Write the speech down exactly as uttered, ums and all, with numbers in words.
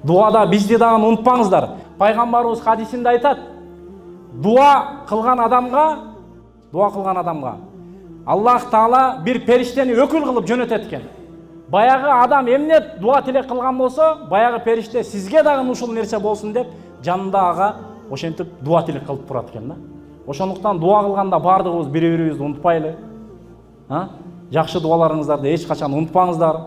Дуада бизди дагы унутпаңыздар. Пайгамбарыбыз хадисинде айтат: дуа кылган адамга, дуа кылган адамга Аллах Таала бир периштени өкүл кылып жөнөтөт экен. Баягы адам эмне дуа тилек кылган болсо, баягы периште сизге дагы ушул нерсе болсун деп жанында ага ошентип дуа тилек кылып турат экен да. Ошондуктан дуа кылганда бардыгыбыз бири-бирибизди унутпайлы. А? Жакшы дуаларыңыздарды эч качан унутпаңыздар.